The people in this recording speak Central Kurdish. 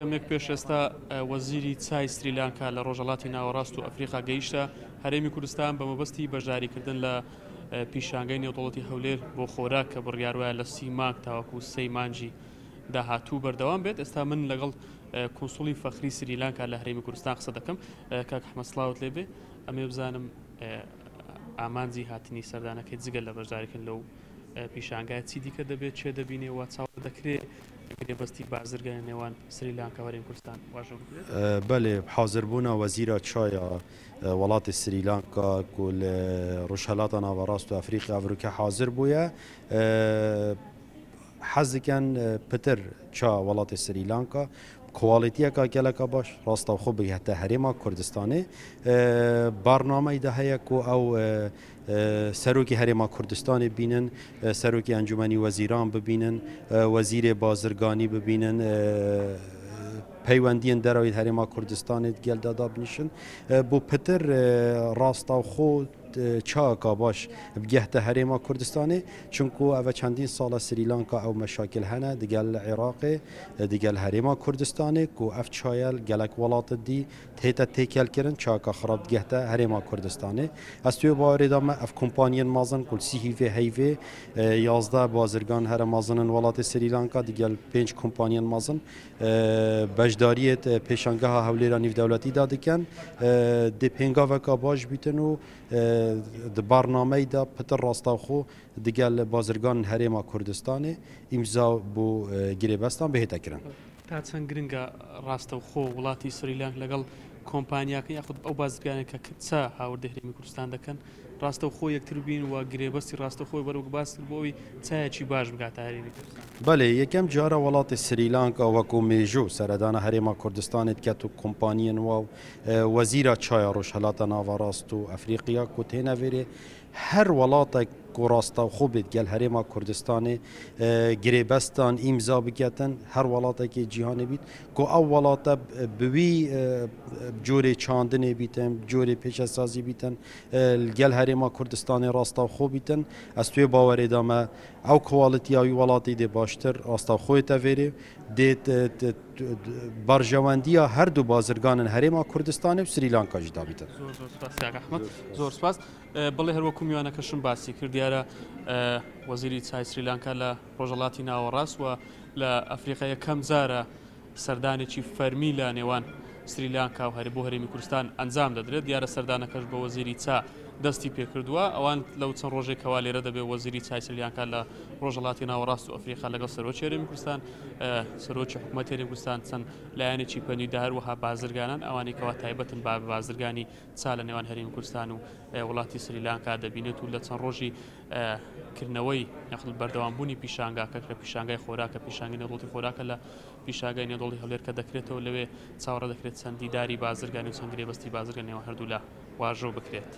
کەمێک پێش ئێستا وەزیری چای سریلانکا لە ڕۆژهەڵاتی ناوەڕاست و ئەفریقا گەیشتە هەرێمی کوردستان بە مەبەستی بەشداریکردن لە پیشانگەی نێودەوڵەتی هەولێر بۆ خۆراک کە بڕیار وایە لە سی مانگ تاوەکو سێی مانگی داهاتوو بەردەوام بێت. ئێستا من لەگەڵ کونسوڵی فەخری سریلانکا لە هەرێمی کوردستان قسە دەکەم. کاک ئەحمەد سڵاوت لێبێ. ئەمێ بزانم ئامانجی هاتنی سەردانەکەی جگە لە بەشداریکردن لەو پیشانگای چی دیکە دەبێت چێ دەبینێ و چاوەڕێ دەکرێ گرێبەستی بازرگانی نێوان سریلانکا و هەرێمی کوردستان واژۆ بکرێت؟ بەلێ، حازربوونا وەزیرا چایا وڵاتی سریلانکا کو لە ڕۆژهەلاتا ناوەڕاست و ئەفریقیا ئەڤروکە حازر بوویە، حەز دکەن پتر چا وڵاتی سریلانکا کواڵیتیەکا گەلەکا باش ڕاستەوخۆ بگهتە هەرێما کوردستانێ. بەرنامەیدا هەیە کو ئەو سەرۆکی هەرێما کوردستانێ بینن، سەرۆکی ئەنجومەنی وەزیران ببینن، وەزیرێ بازرگانی ببینن، پەیوەندیەن دەرەوەی هەرێما کوردستانێ گەلدا دابنیشن بۆ پتر ڕاستەوخۆ چاکا باش بگەهتە هەرێما کوردستانێ، چونکو ئەڤە چەندین ساڵە سریلانکا ئەو مەشاکل هەنە دگەل عێراقێ دگەل هەرێما کوردستانێ کو ئەف چایەل گەلەک وڵاتت دی تێتە تێکەل کرن چاکا خراپ دگەهتە هەرێما کوردستانێ. ئەز توێ باوەرێ دا مە ئەف کۆمپانیەن مەزن کو سی هیڤێ هەیڤێ 11 بازرگان هەرە مەزنن وڵاتێ سریلانکا دگەل 5 کۆمپانیەن مەزن بەشداریەت پێشانگەها هەولێرا نیڤدەولەتی دا دکەن دێ پێنگاڤەکا باش بیتن و د بەرنامەی دا پتر ڕاستەوخۆ دگەل بازرگان هەرێما کوردستانێ ئیمزا بۆ گرێبەستان بهێتە کرن. تا چەند گرنگە ڕاستەوخۆ وڵاتی سریلانک لەگەڵ کۆمپانیاکە یاخود ئەو بازرگانە کە چا هاوردەی هەرێمی کوردستان دەکەن ڕاستەوخۆ یەکتر بین و گرێبەستی ڕاستەوخۆی بەرەو باس کرد بۆ ئەوی چایەکی باش بگاتە هەرێمی کوردستان؟ بەلێ، یەکەم جارە وڵاتی سریلانکا وەکو مێژوو سەردانە هەرێما کوردستانێ دکەت و کۆمپانیەن وا و وەزیرا چایا ڕۆژهەلاتە ناوەڕاست و ئەفریقیا کو تێنە ڤێرێ هەر وڵاتەک کو ڕاستەوخۆ بێت گەل هەرێما کوردستانێ گرێبەستان ئیمزا بکەتن هەر وڵاتەکی جیهانێ بیت کو ئەو وڵاتە بوی جۆرێ چاندنێ بیتن جۆرێ پێشەسازی بیتن گەل هەرێما کوردستانێ ڕاستەوخۆ بیتن ئەز توێ باوەرێ دامە ئەو کواڵیتیا وی وڵاتی دێ باشتر ڕاستەوخۆێ تەڤێرێ دێت بەرژەوەندییا هەردوو بازرگانن هەرێما کوردستانێ و سریلانکا ژی دابیتن. زۆر زۆر سپاس کاک ئەحمەد، زۆر سپاس. بەڵێ هەروەکو میوانەکەشم باسی کرد دیارە وەزیری چای سریلانکا لە ڕۆژهەڵاتی ناوەڕاست و لە ئەفریقا یەکەم جارە سەردانێکی فەرمی لە نێوان سریلانکا و هەر بۆ هەرێمی کوردستان ئەنجام دەدرێت، دیارە سەردانەکەش بە وەزیری چا دەستی پێکردووە، ئەوان لەو چەند ڕۆژێک کەوا لێرە دەبێت وەزیری چای سریلانکا لە ڕۆژهەڵاتی ناوەڕاست و ئەفریقا لەگەڵ سەرۆکی هەرێمی کوردستان، سەرۆکی حکوومەتی هەرێمی کوردستان، چەند لایەنێکی پەیوەندیدار هەروەها بازرگانان ئەوانەی کەوا تایبەتن بە بازرگانی چا لە نێوان هەرێمی کوردستان و وڵاتی سریلانکا دەبینێت و لە چەند ڕۆژی کردنەوەی یاخود بەردەوامبوونی پیشانگاکە کە پیشانگای خۆراکە پیشانگەی نێودەوڵەتی خۆراکە لە پیشانگای نێودەوڵەتی هەولێر کە دەکرێتەوە لەوێ چاوەڕێ دەکرێت چەند دیداری بازرگانی و چەند گرێبەستی بازرگانی نێوان هەردوولا واژۆ بکرێت.